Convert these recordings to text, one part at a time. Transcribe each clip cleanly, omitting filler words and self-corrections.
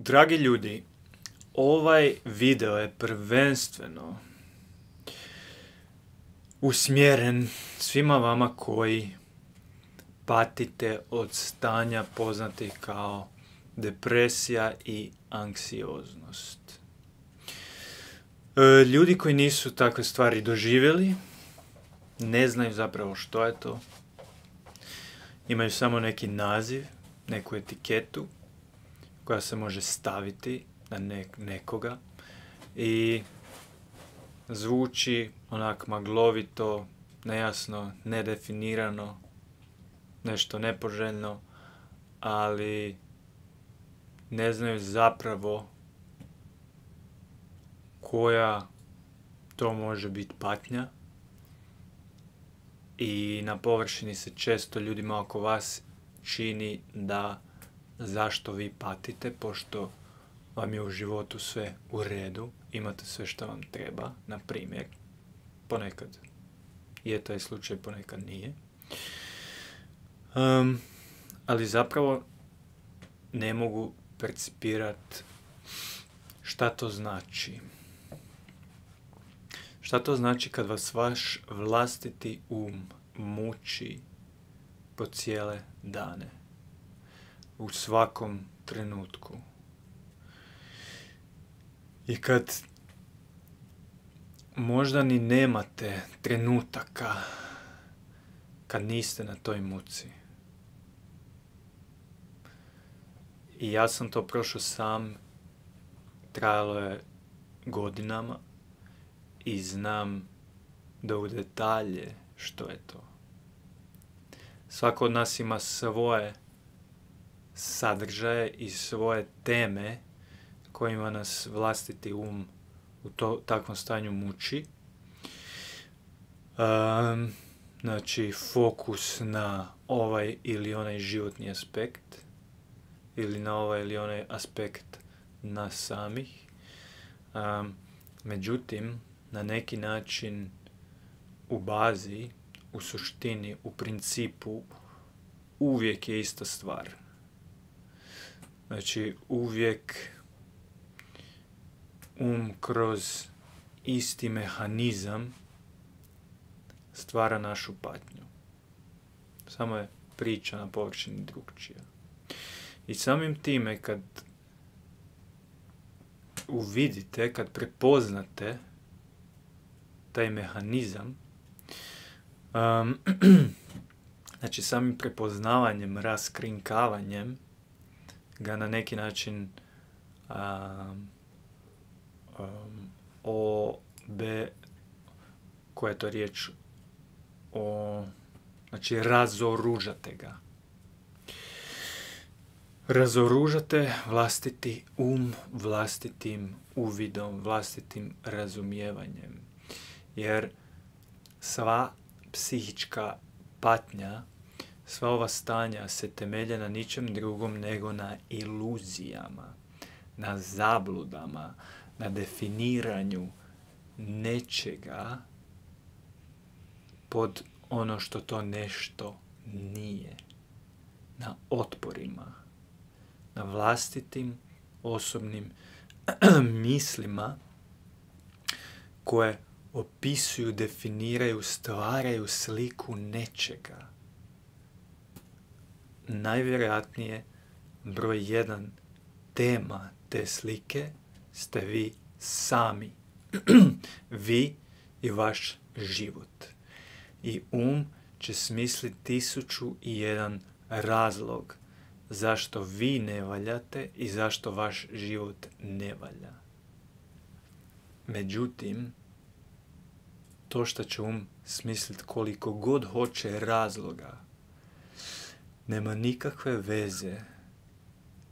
Dragi ljudi, ovaj video je prvenstveno usmjeren svima vama koji patite od stanja poznatih kao depresija i anksioznost. Ljudi koji nisu takve stvari doživjeli, ne znaju zapravo što je to. Imaju samo neki naziv, neku etiketu koja se može staviti na nekoga i zvuči onak maglovito, nejasno, nedefinirano, nešto nepoželjno, ali ne znaju zapravo koja to može biti patnja i na površini se često ljudima oko vas čini da zašto vi patite, pošto vam je u životu sve u redu, imate sve što vam treba, na primjer. Ponekad je taj slučaj, ponekad nije. Ali zapravo ne mogu percipirati šta to znači. Šta to znači kad vas vaš vlastiti muči po cijele dane, u svakom trenutku. I kad možda ni nemate trenutaka kad niste na toj muci. I ja sam to prošao sam, trajalo je godinama i znam do u detalje što je to. Svako od nas ima svoje sadržaje i svoje teme kojima nas vlastiti u takvom stanju muči. Znači, fokus na ovaj ili onaj životni aspekt ili na ovaj ili onaj aspekt nas samih. Međutim, na neki način u bazi, u suštini, u principu uvijek je ista stvar. Znači, uvijek kroz isti mehanizam stvara našu patnju. Samo je priča na površini drugčija. I samim time kad uvidite, kad prepoznate taj mehanizam, znači samim prepoznavanjem, raskrinkavanjem ga na neki način koja je to riječ, znači razoružate ga. Razoružate vlastiti vlastitim uvidom, vlastitim razumijevanjem. Jer sva psihička patnja, sva ova stanja se temelje na ničem drugom nego na iluzijama, na zabludama, na definiranju nečega pod ono što to nešto nije. Na otporima, na vlastitim osobnim mislima koje opisuju, definiraju, stvaraju sliku nečega. Najvjerojatnije broj 1 tema te slike ste vi sami. Vi i vaš život. I će smisliti 1001 razlog zašto vi ne valjate i zašto vaš život ne valja. Međutim, to što će smisliti koliko god hoće razloga, nema nikakve veze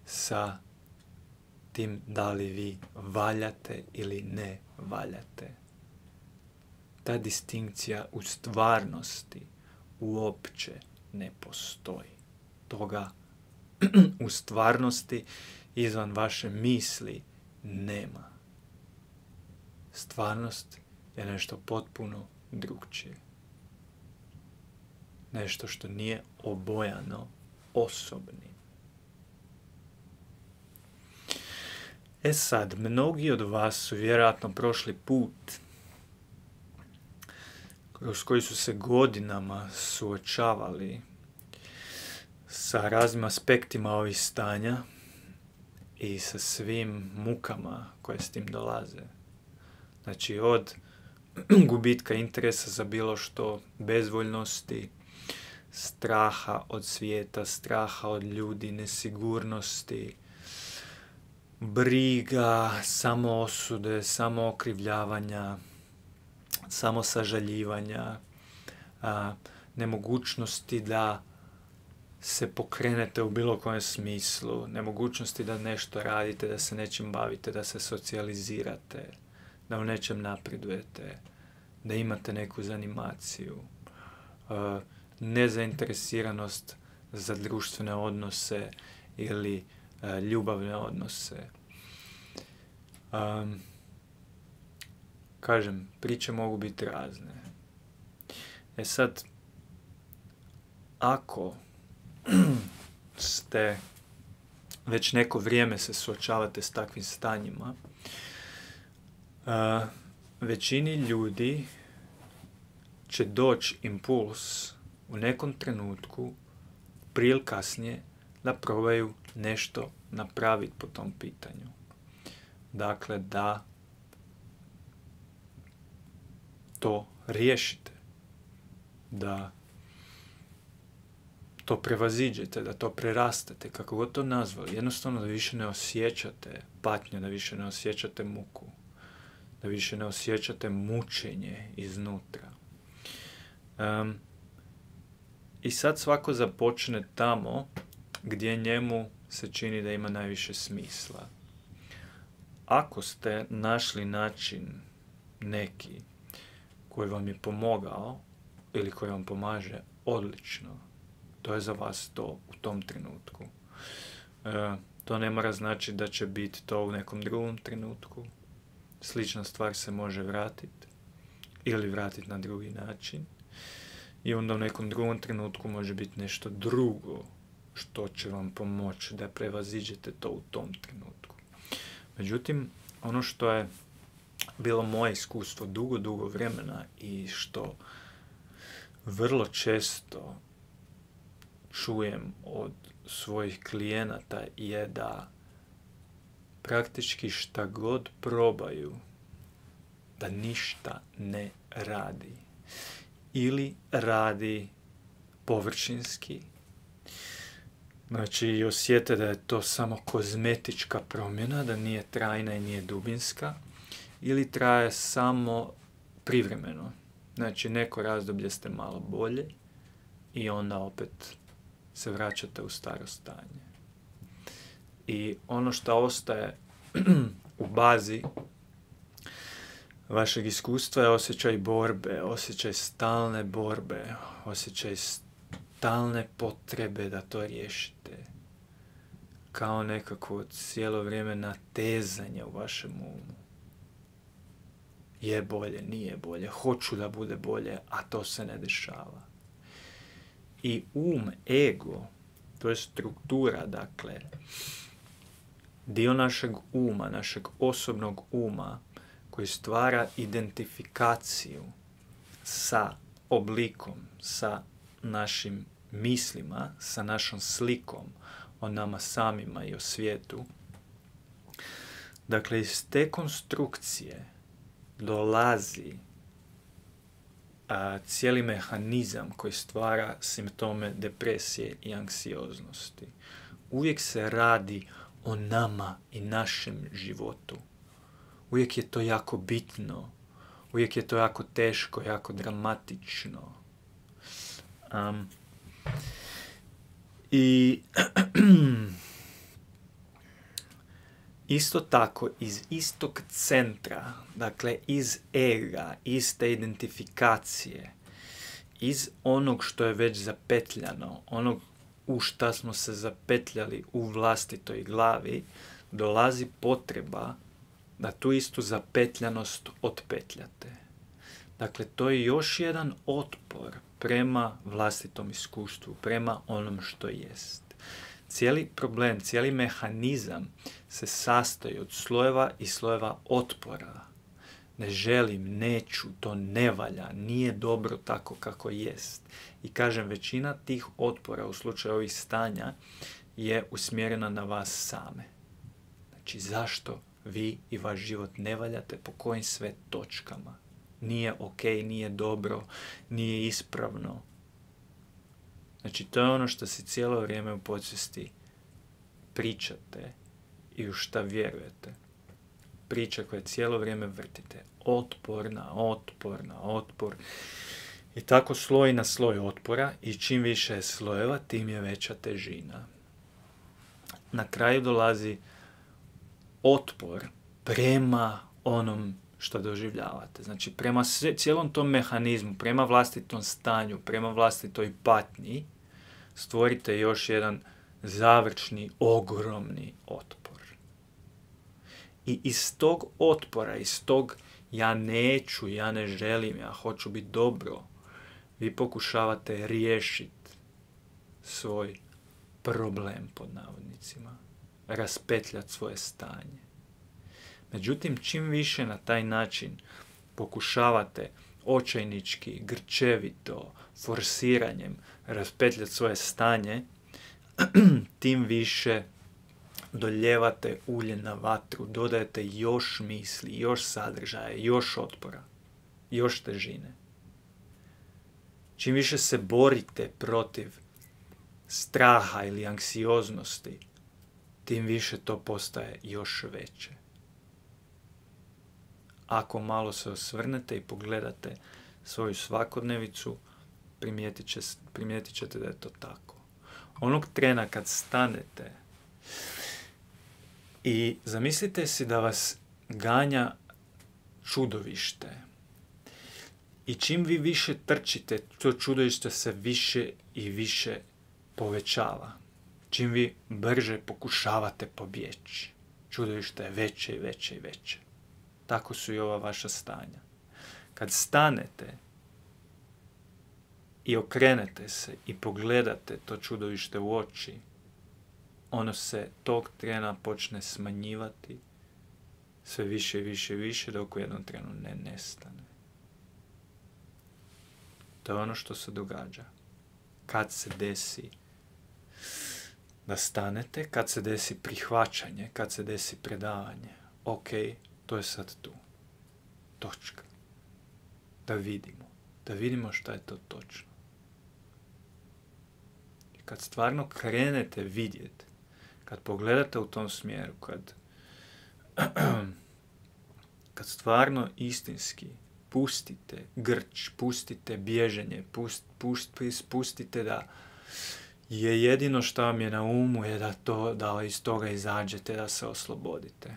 sa tim da li vi valjate ili ne valjate. Ta distinkcija u stvarnosti uopće ne postoji. Toga u stvarnosti izvan vaše misli nema. Stvarnost je nešto potpuno drugčije. Nešto što nije obojano osobnim. E sad, mnogi od vas su vjerojatno prošli put kroz koji su se godinama suočavali sa raznim aspektima ovih stanja i sa svim mukama koje s tim dolaze. Znači, od gubitka interesa za bilo što, bezvoljnosti, straha od svijeta, straha od ljudi, nesigurnosti, briga, samoosude, samookrivljavanja, samosažaljivanja, nemogućnosti da se pokrenete u bilo kojem smislu, nemogućnosti da nešto radite, da se nečim bavite, da se socijalizirate, da u nečem napredujete, da imate neku zanimaciju, nezainteresiranost za društvene odnose ili ljubavne odnose. Kažem, priče mogu biti razne. E sad, ako ste već neko vrijeme se suočavate s takvim stanjima, većini ljudi će doći impuls u nekom trenutku, prije ili kasnije, da probaju nešto napraviti po tom pitanju. Dakle, da to riješite, da to prevaziđete, da to prerastete, kako god to nazvali. Jednostavno da više ne osjećate patnju, da više ne osjećate muku, da više ne osjećate mučenje iznutra. I sad svako započne tamo gdje njemu se čini da ima najviše smisla. Ako ste našli način neki koji vam je pomogao ili koji vam pomaže, odlično. To je za vas to u tom trenutku. To ne mora znači da će biti to u nekom drugom trenutku. Slična stvar se može vratiti ili vratiti na drugi način. I onda u nekom drugom trenutku može biti nešto drugo što će vam pomoći da prevaziđete to u tom trenutku. Međutim, ono što je bilo moje iskustvo dugo vremena i što vrlo često čujem od svojih klijenata je da praktički šta god probaju, da ništa ne radi. Ili radi površinski. Znači, osjete da je to samo kozmetička promjena, da nije trajna i nije dubinska. Ili traje samo privremeno. Znači, neko razdoblje ste malo bolje i onda opet se vraćate u staro stanje. I ono što ostaje u bazi vašeg iskustva je osjećaj borbe, osjećaj stalne borbe, osjećaj stalne potrebe da to riješite. Kao nekako cijelo vrijeme natezanje u vašem umu. Je bolje, nije bolje, hoću da bude bolje, a to se ne dešava. I ego, to je struktura, dakle, dio našeg uma, našeg osobnog uma, koji stvara identifikaciju sa oblikom, sa našim mislima, sa našom slikom o nama samima i o svijetu. Dakle, iz te konstrukcije dolazi cijeli mehanizam koji stvara simptome depresije i anksioznosti. Uvijek se radi o nama i našem životu. Uvijek je to jako bitno. Uvijek je to jako teško, jako dramatično. I isto tako, iz istog centra, dakle iz ega, iz te identifikacije, iz onog što je već zapetljano, onog u šta smo se zapetljali u vlastitoj glavi, dolazi potreba da tu istu zapetljanost otpetljate. Dakle, to je još jedan otpor prema vlastitom iskustvu, prema onom što jest. cijeli problem, cijeli mehanizam se sastoji od slojeva i slojeva otpora. Ne želim, neću, to ne valja, nije dobro tako kako jest. I kažem, većina tih otpora u slučaju ovih stanja je usmjerena na vas same. Znači, zašto vi i vaš život ne valjate, po kojim sve točkama? Nije ok, nije dobro, nije ispravno. Znači, to je ono što si cijelo vrijeme u podsvijesti pričate i u šta vjerujete. Priča koje cijelo vrijeme vrtite. Otpor na otpor na otpor. I tako sloj na sloj otpora i čim više je slojeva, tim je veća težina. Na kraju dolazi otpor prema onom što doživljavate. Znači, prema cijelom tom mehanizmu, prema vlastitom stanju, prema vlastitoj patnji, stvorite još jedan završni, ogromni otpor. I iz tog otpora, iz tog ja neću, ja ne želim, ja hoću biti dobro, vi pokušavate riješiti svoj problem, pod navodnicima, raspetljati svoje stanje. Međutim, čim više na taj način pokušavate očajnički, grčevito, forsiranjem raspetljati svoje stanje, tim više doljevate ulje na vatru, dodajete još misli, još sadržaja, još otpora, još težine. Čim više se borite protiv straha ili anksioznosti, tim više to postaje još veće. Ako malo se osvrnete i pogledate svoju svakodnevicu, primijetit ćete da je to tako. Onog trena kad stanete i zamislite si da vas ganja čudovište i čim vi više trčite, to čudovište se više i više povećava. Čim vi brže pokušavate pobjeći, čudovište je veće i veće i veće. Tako su i ova vaša stanja. Kad stanete i okrenete se i pogledate to čudovište u oči, ono se tog trena počne smanjivati sve više i više i više dok u jednom trenu ne nestane. To je ono što se događa. Kad se desi da stanete, kad se desi prihvaćanje, kad se desi predavanje, ok, to je sad tu. Točka. Da vidimo šta je to točno. I kad stvarno krenete vidjeti, kad pogledate u tom smjeru, kad stvarno istinski pustite grč, pustite bježenje, pustite da je jedino što vam je na umu je da iz toga izađete, da se oslobodite.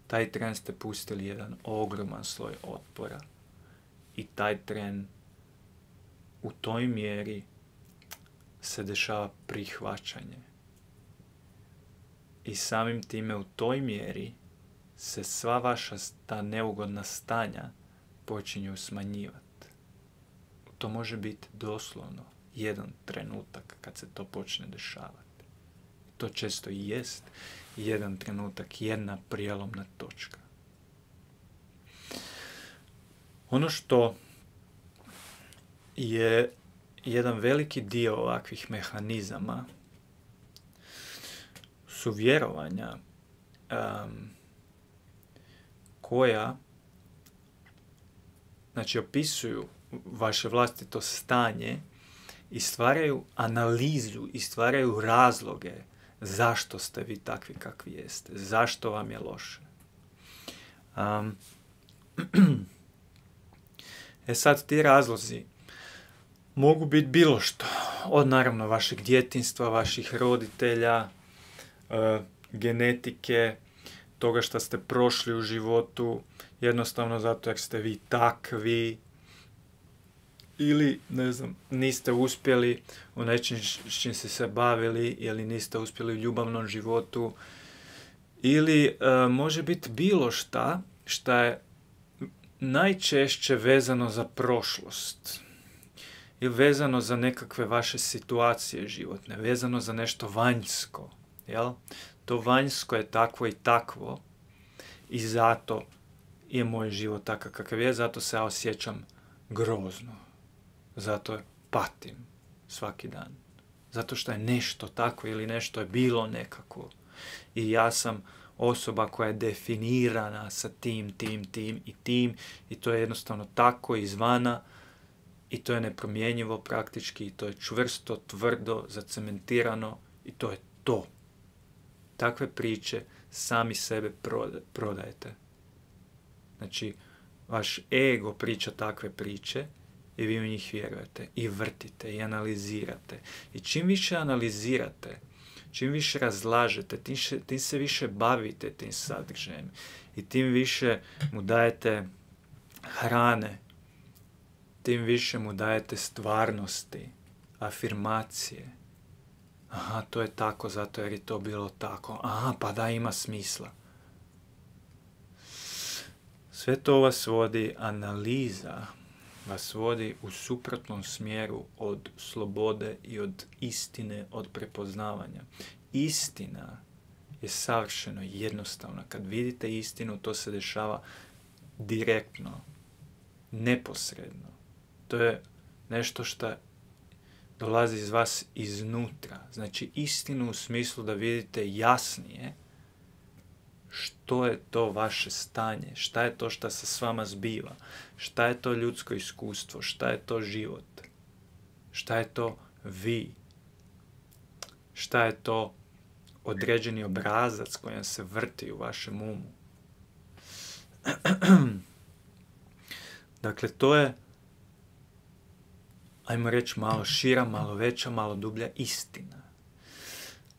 Taj tren ste pustili jedan ogroman sloj otpora i taj tren u toj mjeri se dešava prihvaćanje. I samim time u toj mjeri se sva vaša ta neugodna stanja počinju smanjivati. To može biti doslovno jedan trenutak kad se to počne dešavati. To često i jest jedan trenutak, jedna prijelomna točka. Ono što je jedan veliki dio ovakvih mehanizama su vjerovanja koja opisuju vaše vlastito stanje i stvaraju analizu i stvaraju razloge zašto ste vi takvi kakvi jeste, zašto vam je loše. Sad ti razlozi mogu biti bilo što, od naravno vašeg djetinjstva, vaših roditelja, genetike, toga što ste prošli u životu, jednostavno zato jer ste vi takvi, ili, niste uspjeli u nečem s čim ste se bavili, ili niste uspjeli u ljubavnom životu, ili može biti bilo šta je najčešće vezano za prošlost. ili vezano za nekakve vaše situacije životne, vezano za nešto vanjsko, jel? To vanjsko je takvo i takvo i zato je moj život takav kakav je, zato se ja osjećam grozno, zato patim svaki dan, zato što je nešto tako ili nešto je bilo nekako i ja sam osoba koja je definirana sa tim i to je jednostavno tako izvana i to je nepromjenjivo praktički i to je čvrsto, tvrdo, zacementirano i to je to. Takve priče sami sebe prodajete. Znači, vaš ego priča takve priče i vi u njih vjerujete i vrtite i analizirate. I čim više analizirate, čim više razlažete, tim se više bavite tim sadržajem i tim više mu dajete hrane, tim više mu dajete stvarnosti, afirmacije. Aha, to je tako zato jer je to bilo tako. Aha, pa da, ima smisla. Sve to vas vodi, analiza vas vodi u suprotnom smjeru od slobode i od istine, od prepoznavanja. Istina je savršeno jednostavna. Kad vidite istinu, to se dešava direktno, neposredno. To je nešto što dolazi iz vas iznutra. Znači istinu u smislu da vidite jasnije što je to vaše stanje, šta je to što se s vama zbiva, šta je to ljudsko iskustvo, šta je to život, šta je to vi, šta je to određeni obrazac koji se vrti u vašem umu. Dakle, to je, ajmo reći, malo šira, malo veća, malo dublja istina.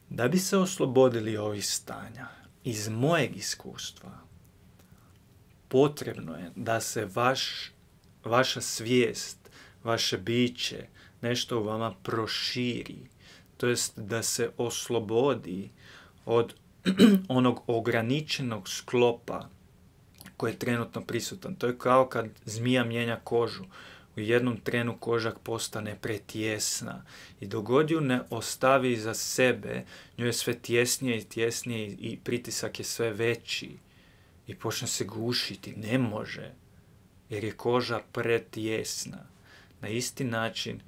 Da bi se oslobodili ovih stanja, iz mojeg iskustva, potrebno je da se vaša svijest, vaše biće, nešto u vama proširi, to jest da se oslobodi od onog ograničenog sklopa koji je trenutno prisutan. To je kao kad zmija mijenja kožu. U jednom trenu koža postane pretjesna i dok god ju ne ostavi iza sebe, njoj je sve tjesnije i tjesnije i pritisak je sve veći i počne se gušiti. Ne može, jer je koža pretjesna. Na isti način,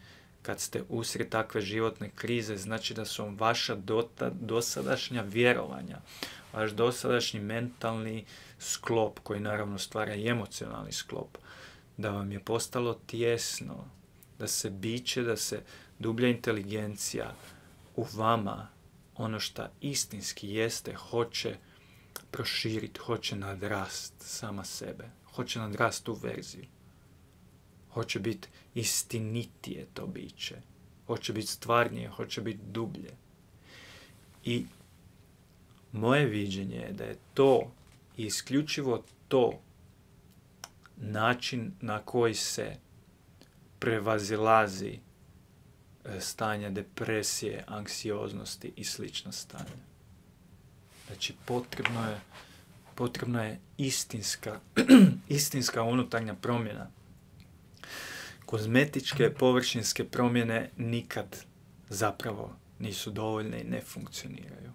kad ste usred takve životne krize, znači da su vam vaša dosadašnja vjerovanja, vaš dosadašnji mentalni sklop, koji naravno stvara i emocionalni sklop, da vam je postalo tjesno, da se biće, da se dublja inteligencija u vama, ono što istinski jeste, hoće proširiti, hoće nadrast sama sebe, hoće nadrast tu verziju, hoće biti istinitije to biće, hoće biti stvarnije, hoće biti dublje. I moje viđenje je da je to i isključivo to način na koji se prevazilazi stanja depresije, anksioznosti i slična stanja. Znači, potrebna je istinska unutarnja promjena. Kozmetičke, površinske promjene nikad zapravo nisu dovoljne i ne funkcioniraju.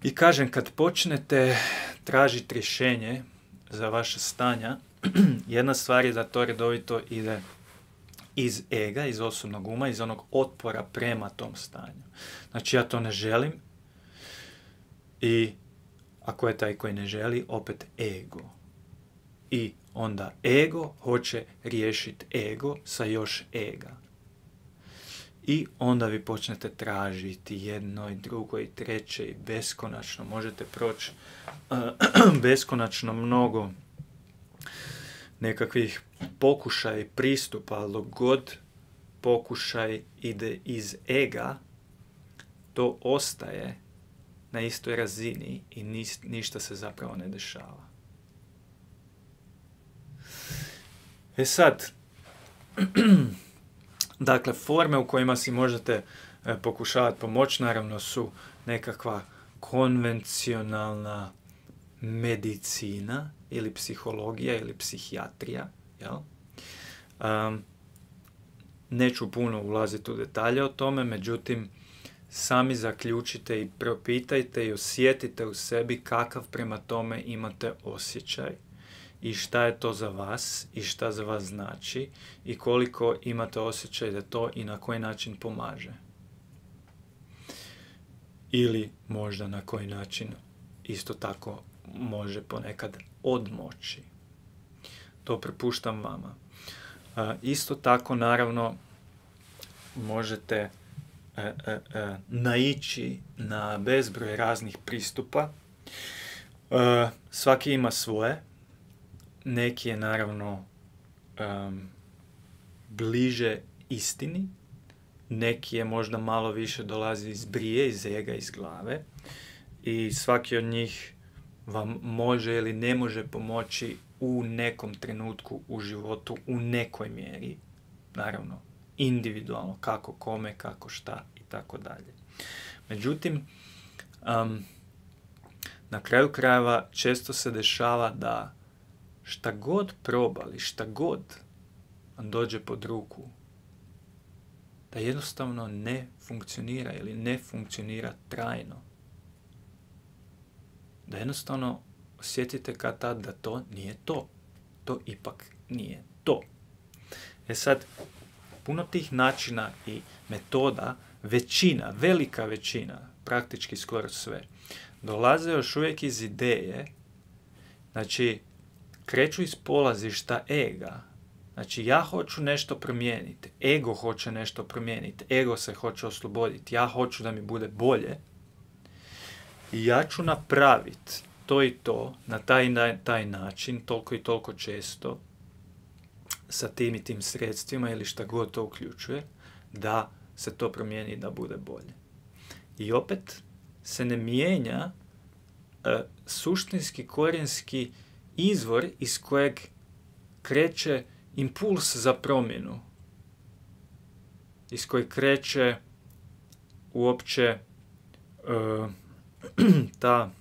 I kažem, kad počnete tražiti rješenje za vaše stanja, jedna stvar je da to redovito ide iz ega, iz osobnog uma, iz onog otpora prema tom stanju. Znači, ja to ne želim i ako je taj koji ne želi, opet ego. I onda ego hoće riješiti ego sa još ega. I onda vi počnete tražiti jedno i drugo i treće i beskonačno. Možete proći beskonačno mnogo nekakvih pokušaja i pristupa, ali dok god pokušaj ide iz ega, to ostaje na istoj razini i ništa se zapravo ne dešava. E sad, dakle, forme u kojima si možete pokušavati pomoći, naravno, su nekakva konvencionalna medicina ili psihologija ili psihijatrija. Jel? Neću puno ulaziti u detalje o tome, međutim, sami zaključite i propitajte i osjetite u sebi kakav prema tome imate osjećaj i šta je to za vas i šta za vas znači i koliko imate osjećaj da to i na koji način pomaže. Ili možda na koji način isto tako može ponekad odmoći. To prepuštam vama. Isto tako, naravno, možete naići na bezbroj raznih pristupa. Svaki ima svoje. Neki je naravno bliže istini. Neki je možda malo više dolazi iz brije, iz ega, iz glave. I svaki od njih vam može ili ne može pomoći u nekom trenutku u životu, u nekoj mjeri. Naravno, individualno, kako kome, kako šta i tako dalje. Međutim, na kraju krajeva često se dešava da šta god probali, šta god vam dođe pod ruku, da jednostavno ne funkcionira ili ne funkcionira trajno. Da jednostavno osjetite kad tad da to nije to. To ipak nije to. Sad, puno tih načina i metoda, većina, velika većina, praktički skoro sve, dolaze još uvijek iz ideje, znači, kreću iz polazišta ega. Znači, ja hoću nešto promijeniti, ego hoće nešto promijeniti, ego se hoće osloboditi, ja hoću da mi bude bolje i ja ću napraviti to i to, na taj način, toliko i toliko često, sa tim i tim sredstvima ili šta god to uključuje, da se to promijeni i da bude bolje. I opet se ne mijenja suštinski, korijenski izvor iz kojeg kreće impuls za promjenu, iz kojeg kreće uopće ta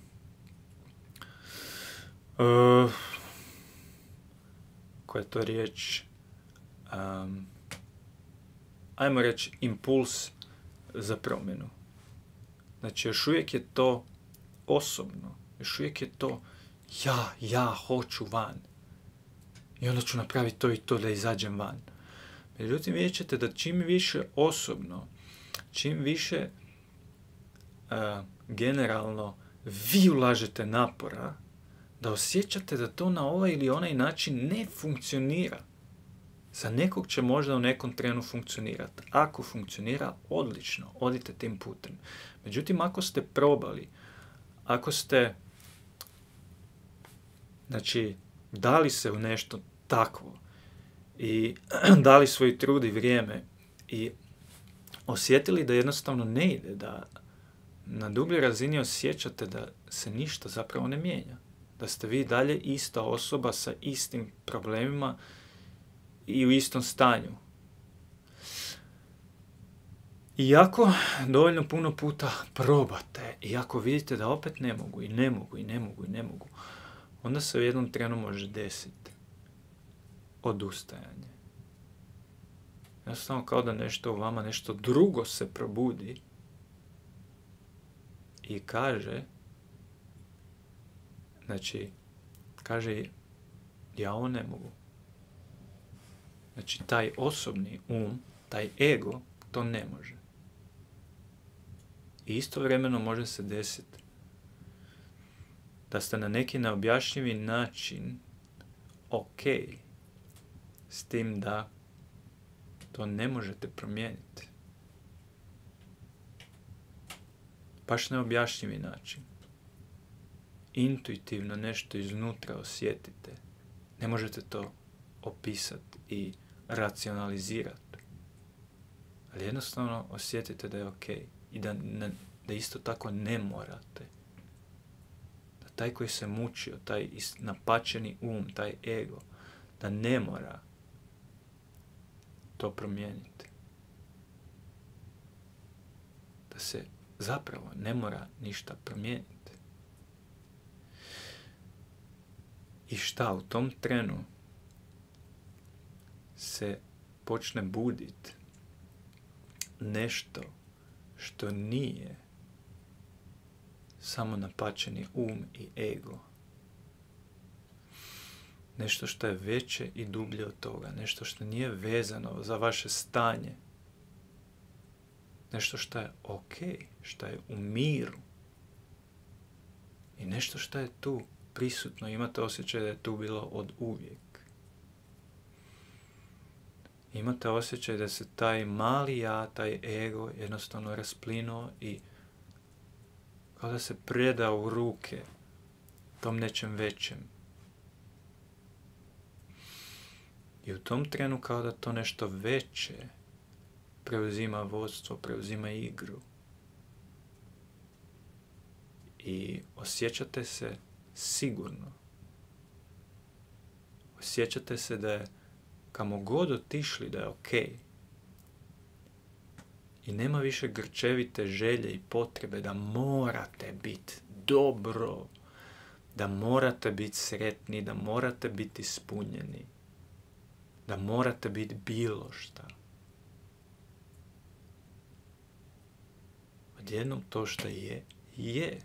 koja je to riječ, ajmo reći impuls za promjenu. Znači, još uvijek je to osobno, još uvijek je to ja hoću van. I onda ću napraviti to i to da izađem van. Međutim, vidjet ćete da čim više osobno, čim više generalno vi ulažete napora, da osjećate da to na ovaj ili onaj način ne funkcionira. Za nekog će možda u nekom trenu funkcionirati. Ako funkcionira, odlično, odite tim putem. Međutim, ako ste probali, ako ste, znači, dali se u nešto takvo i dali svoj trud i vrijeme i osjetili da jednostavno ne ide, da na dubljoj razini osjećate da se ništa zapravo ne mijenja. Da ste vi dalje ista osoba sa istim problemima i u istom stanju. I ako dovoljno puno puta probate i ako vidite da opet ne mogu, onda se u jednom trenu može desiti odustajanje. Jednostavno kao da nešto u vama, nešto drugo se probudi i kaže, ja ovo ne mogu. Znači, taj osobni taj ego, to ne može. I istovremeno može se desiti da ste na neki neobjašnjivi način ok s tim da to ne možete promijeniti. Baš neobjašnjivi način. Intuitivno nešto iznutra osjetite. Ne možete to opisati i racionalizirati. Ali jednostavno osjetite da je ok. I da isto tako ne morate. Da taj koji se mučio, taj napačeni taj ego, da ne mora to promijeniti. Da se zapravo ne mora ništa promijeniti. I šta u tom trenu se počne buditi nešto što nije samo napačeni um i ego. Nešto što je veće i dublje od toga. Nešto što nije vezano za vaše stanje. Nešto što je ok, što je u miru. I nešto što je tu prisutno. Imate osjećaj da je tu bilo od uvijek. Imate osjećaj da se taj mali ja, taj ego jednostavno rasplinuo i kao da se preda u ruke tom nečem većem. I u tom trenu kao da to nešto veće preuzima vodstvo, preuzima igru. I osjećate se sigurno. Osjećate se da je kamo god otišli da je ok. I nema više grčevite želje i potrebe da morate biti dobro, da morate biti sretni, da morate biti ispunjeni, da morate biti bilo šta. Odjednom to što je, je.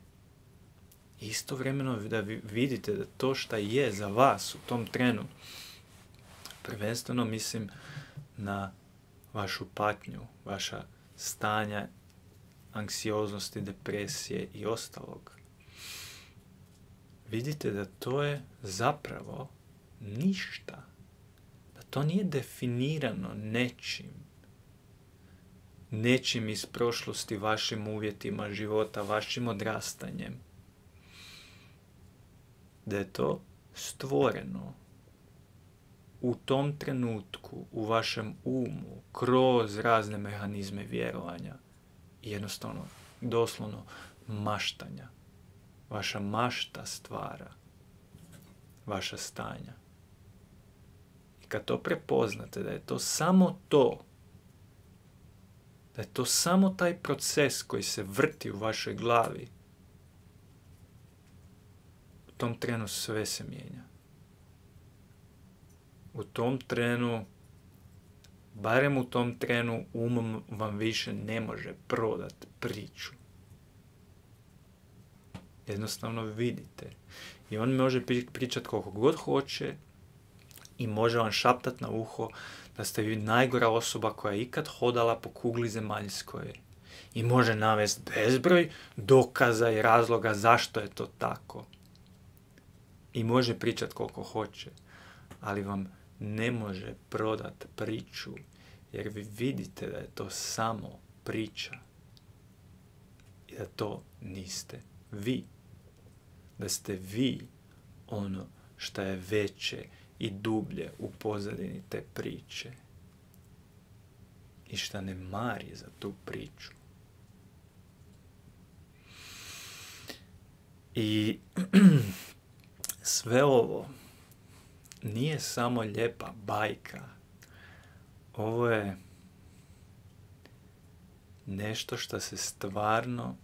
Istovremeno da vi vidite da to što je za vas u tom trenu, prvenstveno mislim na vašu patnju, vaša stanja anksioznosti, depresije i ostalog. Vidite da to je zapravo ništa. Da to nije definirano nečim iz prošlosti, vašim uvjetima života, vašim odrastanjem. Da je to stvoreno u tom trenutku, u vašem umu, kroz razne mehanizme vjerovanja i jednostavno, doslovno, maštanja. Vaša mašta stvara vaša stanja. I kad to prepoznate, da je to samo to, da je to samo taj proces koji se vrti u vašoj glavi, u tom trenu sve se mijenja. U tom trenu, barem u tom trenu, umom vam više ne može prodati priču. Jednostavno vidite. I on može pričati koliko god hoće i može vam šaptati na uho da ste vi najgora osoba koja je ikad hodala po kugli zemaljskoj. I može navesti bezbroj dokaza i razloga zašto je to tako. I može pričati koliko hoće. Ali vam ne može prodati priču, jer vi vidite da je to samo priča. I da to niste vi. Da ste vi ono što je veće i dublje u pozadini te priče. I šta ne mari za tu priču. I sve ovo nije samo lijepa bajka. Ovo je nešto što se stvarno,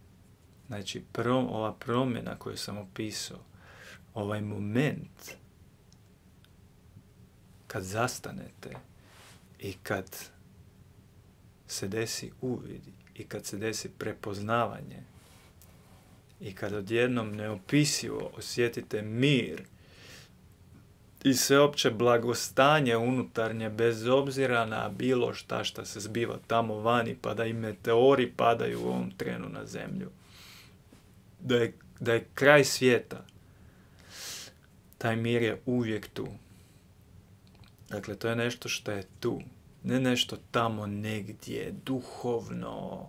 znači ova promjena koju sam opisao, ovaj moment kad zastanete i kad se desi uvid i kad se desi prepoznavanje i kad odjednom neopisivo osjetite mir i sveopće blagostanje unutarnje bez obzira na bilo šta se zbiva tamo vani, pa da i meteori padaju u ovom trenu na zemlju. Da je kraj svijeta. Taj mir je uvijek tu. Dakle, to je nešto što je tu. Ne nešto tamo negdje, duhovno,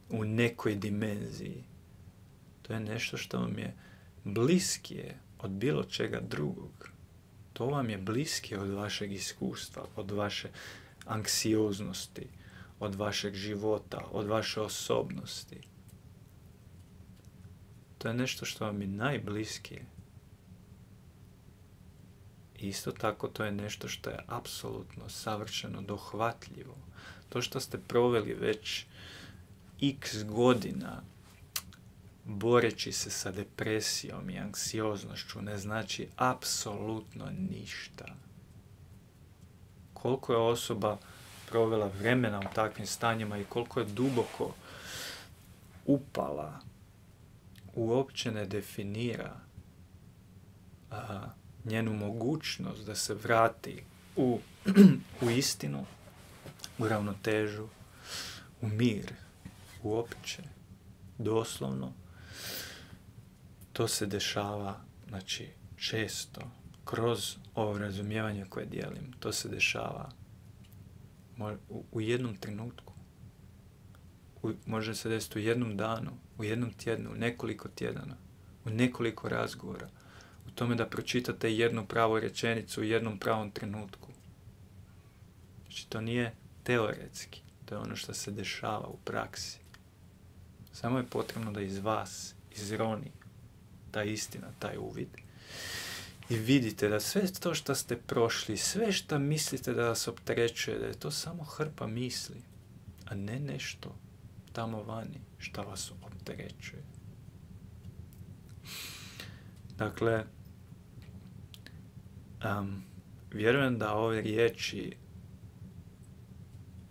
u nekoj dimenziji. To je nešto što vam je bliskije od bilo čega drugog. To vam je bliskije od vašeg iskustva, od vaše anksioznosti, od vašeg života, od vaše osobnosti. To je nešto što vam je najbliskije. Isto tako to je nešto što je apsolutno savršeno dohvatljivo. To što ste proveli već x godina boreći se sa depresijom i anksioznošću ne znači apsolutno ništa. Koliko je osoba provela vremena u takvim stanjima i koliko je duboko upala, uopće ne definira njenu mogućnost da se vrati u istinu, u ravnotežu, u mir, uopće, doslovno. To se dešava, znači, često, kroz ovo razumijevanje koje dijelim. To se dešava u jednom trenutku. Može se desiti u jednom danu, u jednom tjednu, u nekoliko tjedana, u nekoliko razgovora. U tome da pročitate jednu pravu rečenicu u jednom pravom trenutku. Znači, to nije teoretski. To je ono što se dešava u praksi. Samo je potrebno da iz vas izroni ta istina, taj uvid. I vidite da sve to što ste prošli, sve što mislite da vas opterećuje, da je to samo hrpa misli, a ne nešto tamo vani što vas opterećuje. Dakle, vjerujem da ove riječi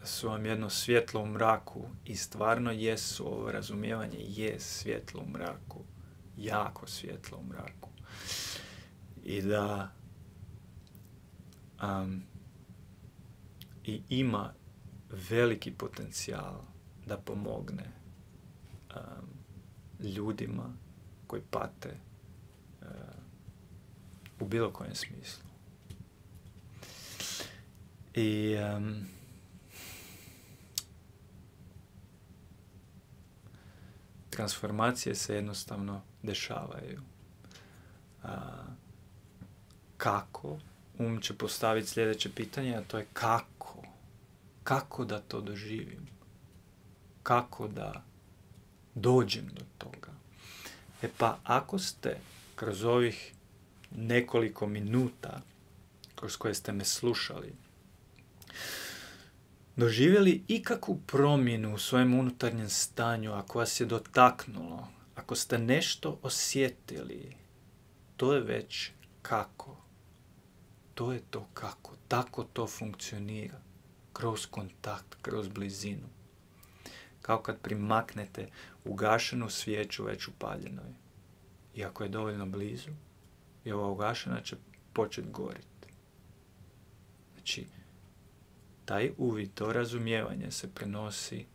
su vam jedno svjetlo u mraku i stvarno jesu, ovo razumijevanje je svjetlo u mraku, jako svjetlo u mraku. I da i ima veliki potencijal da pomogne ljudima koji pate u bilo kojem smislu. I transformacije se jednostavno dešavaju. Kako? Će postaviti sljedeće pitanje, a to je kako? Kako da to doživim? Kako da dođem do toga? Pa ako ste kroz ovih nekoliko minuta kroz koje ste me slušali doživjeli ikakvu promjenu u svojem unutarnjem stanju, ako vas je dotaknulo, ako ste nešto osjetili, to je već kako. To je to kako. Tako to funkcionira. Kroz kontakt, kroz blizinu. Kao kad primaknete ugašenu svijeću već upaljenoj. I ako je dovoljno blizu, i ova ugašena će početi goriti. Znači, taj uvid, to razumijevanje se prenosi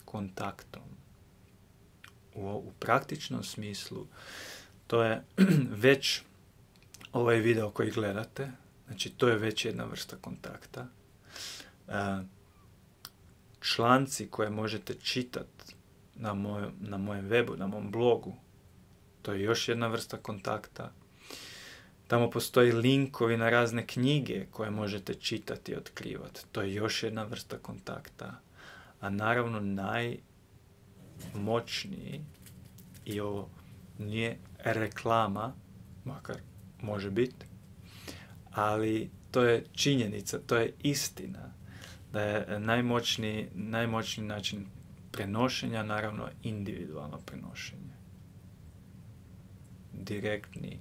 kontaktom. U praktičnom smislu, to je već ovaj video koji gledate, znači to je već jedna vrsta kontakta. Članci koje možete čitati na mojem webu, na mom blogu, to je još jedna vrsta kontakta. Tamo postoji linkovi na razne knjige koje možete čitati i otkrivati. To je još jedna vrsta kontakta. A naravno najmoćniji, i ovo nije reklama, makar može biti, ali to je činjenica, to je istina, da je najmoćniji način prenošenja, naravno, individualno prenošenje. Direktni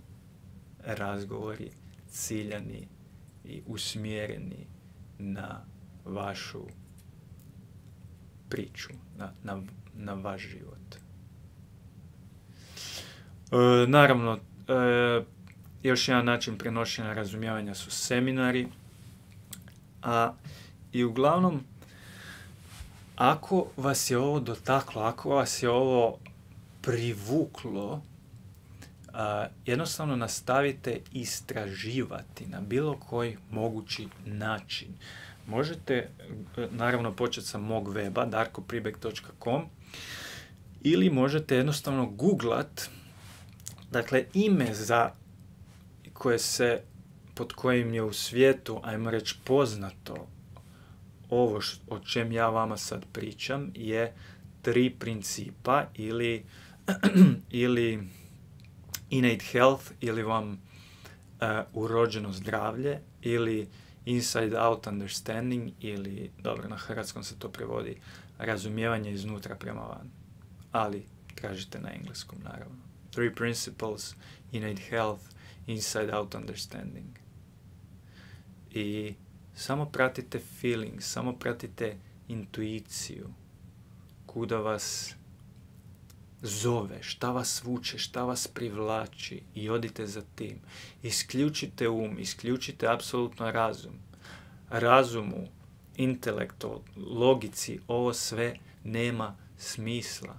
razgovori, ciljani i usmjereni na vašu priču, na vaš život. Naravno, još jedan način prenošenja razumijevanja su seminari. I uglavnom, ako vas je ovo dotaklo, ako vas je ovo privuklo, jednostavno nastavite istraživati na bilo koji mogući način. Možete, naravno, početi sa mog weba, darkopribeg.com, ili možete jednostavno googlat, dakle, ime pod kojim je u svijetu, ajmo reći, poznato ovo o čem ja vama sad pričam, je 3 principa ili innate health, ili vam urođeno zdravlje, ili inside out understanding, ili, dobro, na hrvatskom se to prevodi, razumijevanje iznutra prema van. Ali tražite na engleskom, naravno. 3 principles, innate health, inside out understanding. I Samo pratite feeling, samo pratite intuiciju. Kuda vas zove, šta vas vuče, šta vas privlači i odite za tim. Isključite isključite apsolutno razum. Razumu, intelektu, logici, ovo sve nema smisla.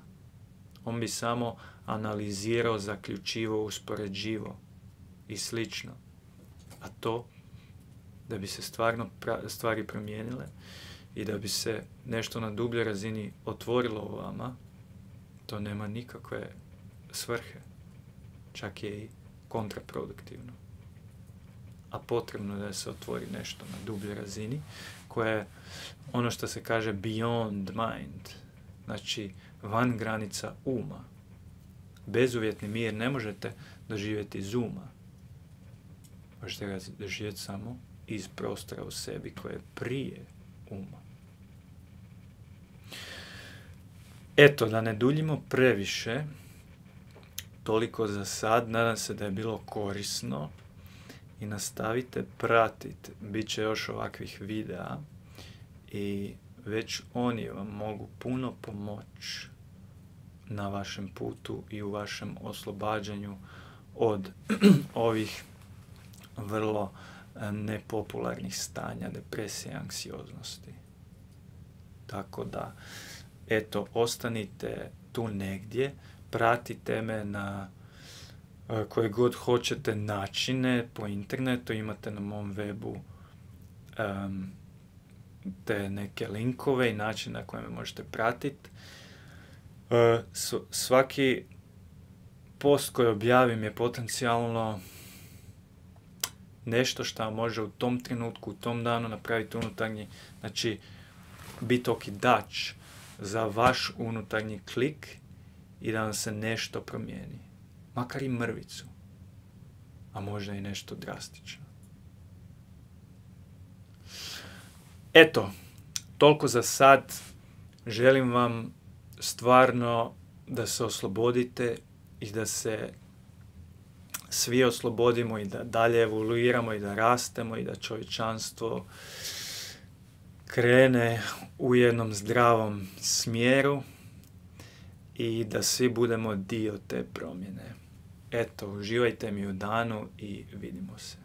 On bi samo analizirao, zaključivao, uspoređivao i slično. A to, da bi se stvarno stvari promijenile i da bi se nešto na dubljoj razini otvorilo u vama, to nema nikakve svrhe. Čak je i kontraproduktivno. A potrebno je da se otvori nešto na dubljoj razini, koje je ono što se kaže beyond mind, znači van granica uma. Bezuvjetni mir ne možete doživjeti iz uma. Možete ga doživjeti samo iz prostora u sebi koje je prije uma. Eto, da ne duljimo previše, toliko za sad. Nadam se da je bilo korisno i nastavite pratiti. Biće još ovakvih videa i već oni vam mogu puno pomoći na vašem putu i u vašem oslobađanju od ovih vrlo nepopularnih stanja, depresije, anksioznosti. Tako da, eto, ostanite tu negdje, pratite me na koje god hoćete načine po internetu, imate na mom webu te neke linkove i načine na koje me možete pratiti. Svaki post koji objavim je potencijalno nešto što može u tom trenutku, u tom danu napraviti unutarnji, znači biti okidač za vaš unutarnji klik i da vam se nešto promijeni. Makar i mrvicu, a možda i nešto drastično. Eto, toliko za sad. Želim vam stvarno da se oslobodite i da se svi oslobodimo i da dalje evoluiramo i da rastemo i da čovječanstvo krene u jednom zdravom smjeru i da svi budemo dio te promjene. Eto, uživajte mi u danu i vidimo se.